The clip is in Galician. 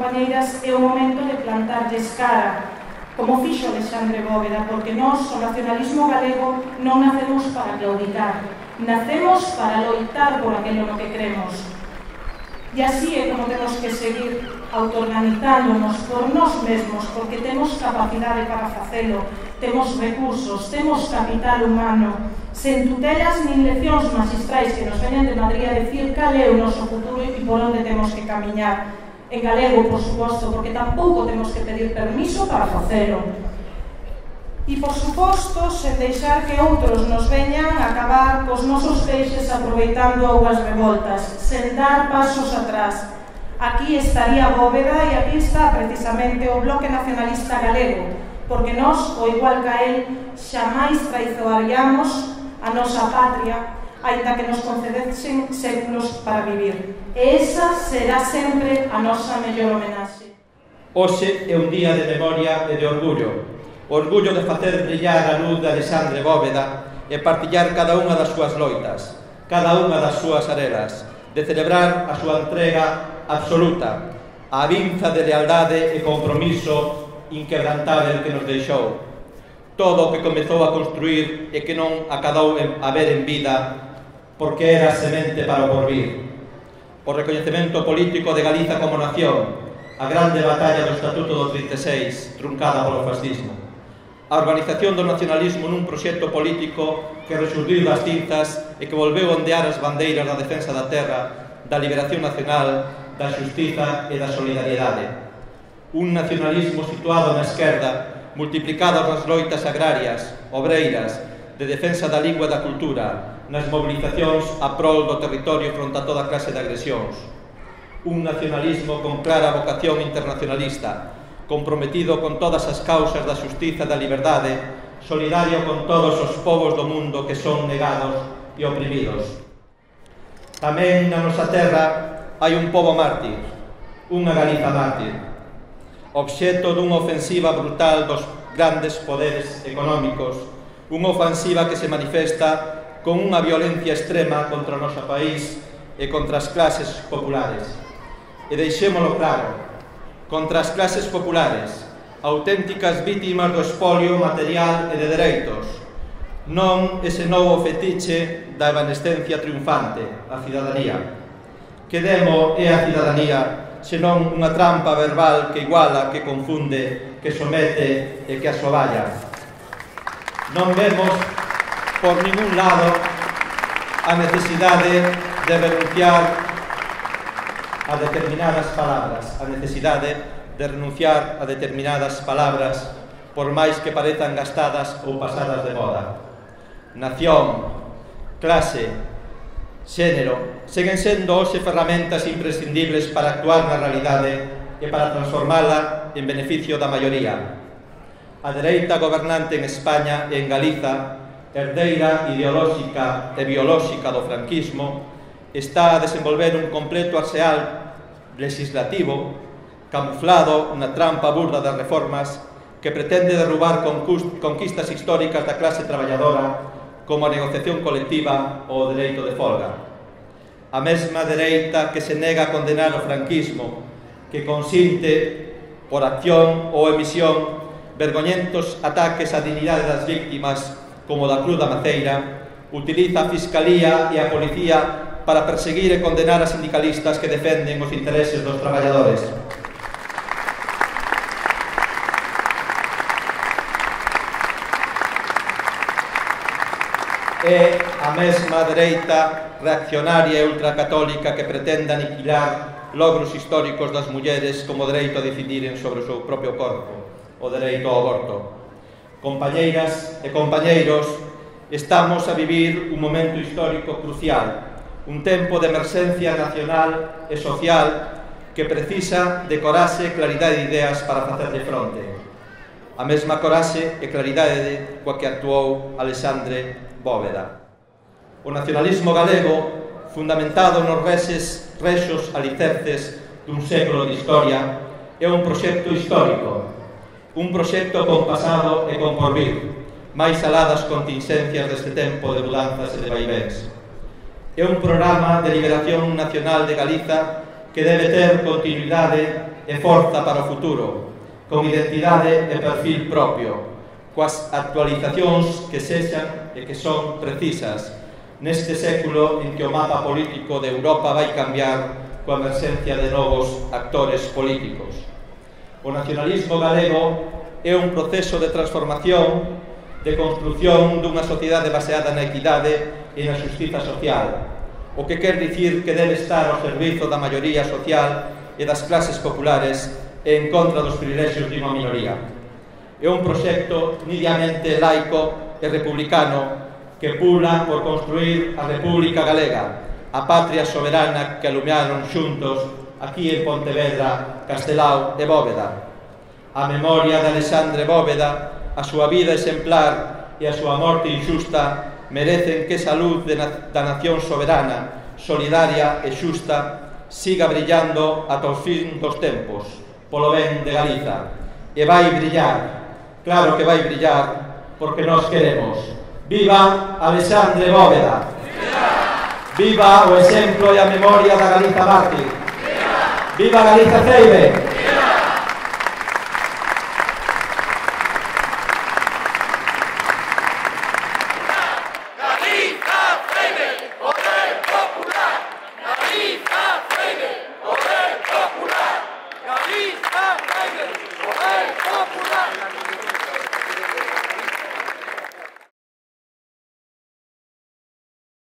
compañeiras, é o momento de plantarlles cara, como fixo Alexandre Bóveda, porque nós, o nacionalismo galego, non nacemos para claudicar, nacemos para loitar por aquilo no que cremos. E así é como temos que seguir autoorganizándonos por nós mesmos, porque temos capacidade para facelo, temos recursos, temos capital humano, sen tutelas nin leccións magistrais que nos veñan de Madrid a decir cal é o noso futuro e por onde temos que camiñar. En galego, por suposto, porque tampouco temos que pedir permiso para facelo. E, por suposto, sen deixar que outros nos veñan a acabar cos nosos peixes aproveitando augas revoltas, sen dar pasos atrás. Aquí estaría Bóveda e aquí está precisamente o Bloque Nacionalista Galego, porque nós, ao igual que a él, xamais traizoaríamos a nosa patria, aínda que nos concedesen séculos para vivir. E esa será sempre a nosa mellor homenaxe. Hoxe é un día de memoria e de orgullo. Orgullo de facer brillar a luz de Alexandre Bóveda e partillar cada unha das súas loitas, cada unha das súas arelas, de celebrar a súa entrega absoluta, a vinza de lealdade e compromiso inquebrantável que nos deixou. Todo o que comezou a construir e que non acadou a ver en vida, porque era semente para o porvir. O recoñecemento político de Galiza como nación, a grande batalla do Estatuto do 36, truncada polo fascismo. A organización do nacionalismo nun proxecto político que resurdiu das cinzas e que volveu ondear as bandeiras da defensa da terra, da liberación nacional, da xustiza e da solidariedade. Un nacionalismo situado na esquerda, multiplicado nas loitas agrarias, obreiras, de defensa da lingua e da cultura, nas mobilizacións a prol do territorio fronte a toda clase de agresións. Un nacionalismo con clara vocación internacionalista, comprometido con todas as causas da xustiza e da liberdade, solidario con todos os povos do mundo que son negados e oprimidos. Tamén na nosa terra hai un pobo mártir, unha Galiza mártir, obxecto dunha ofensiva brutal dos grandes poderes económicos, unha ofensiva que se manifesta con unha violencia extrema contra o noso país e contra as clases populares. E deixémolo claro, contra as clases populares, auténticas vítimas do espolio material e de dereitos, non ese novo fetiche da evanescencia triunfante, a cidadanía. Que demo é a cidadanía, senón unha trampa verbal que iguala, que confunde, que somete e que asoballa. Non vemos por ningún lado a necesidade de renunciar a determinadas palabras, a necesidade de renunciar a determinadas palabras por máis que parezan gastadas ou pasadas de moda. Nación, clase, xénero, seguen sendo hoxe ferramentas imprescindibles para actuar na realidade e para transformala en beneficio da maioría. A dereita gobernante en España e en Galiza, herdeira ideolóxica e biolóxica do franquismo, está a desenvolver un completo arseal legislativo camuflado na trampa burda das reformas que pretende derrubar conquistas históricas da clase traballadora como a negociación colectiva ou o dereito de folga. A mesma dereita que se nega a condenar o franquismo, que consinte, por acción ou emisión, vergoñentos ataques á dignidade das víctimas como da Cruz da Maceira, utiliza a Fiscalía e a Policía para perseguir e condenar a sindicalistas que defenden os intereses dos traballadores. É a mesma dereita reaccionaria e ultracatólica que pretende aniquilar logros históricos das mulleres como o dereito a decidiren sobre o seu propio corpo, o dereito ao aborto. Compañeiras e compañeiros, estamos a vivir un momento histórico crucial, un tempo de emerxencia nacional e social que precisa de coraxe e claridade de ideas para facerlle fronte. A mesma coraxe e claridade coa que actuou Alexandre Bóveda. O nacionalismo galego, fundamentado nos rexos alicerces dun século de historia, é un proxecto histórico, un proxecto con pasado e con porvir, máis alá das contingencias deste tempo de mudanzas e de vaivéns. É un programa de liberación nacional de Galiza que debe ter continuidade e e forza para o futuro, con identidade e perfil propio, coas actualizacións que sexan e que son precisas neste século en que o mapa político de Europa vai cambiar coa emerxencia de novos actores políticos. O nacionalismo galego é un proceso de transformación, de construción dunha sociedade baseada na equidade e na xustiza social, o que quer dicir que debe estar ao servizo da maioría social e das clases populares e en contra dos privilexios de unha minoría. É un proxecto nidamente laico e republicano que pula por construir a República Galega, a patria soberana que alumearon xuntos aquí en Pontevedra, Castelao e Bóveda. A memoria de Alexandre Bóveda, a súa vida exemplar e a súa morte injusta merecen que esa luz da nación soberana, solidaria e xusta siga brillando ata o fin dos tempos, polo ben de Galiza. E vai brillar, claro que vai brillar, porque nós queremos. Viva Alexandre Bóveda! Viva o exemplo e a memoria da Galiza mártir! Viva Galiza Ceibe!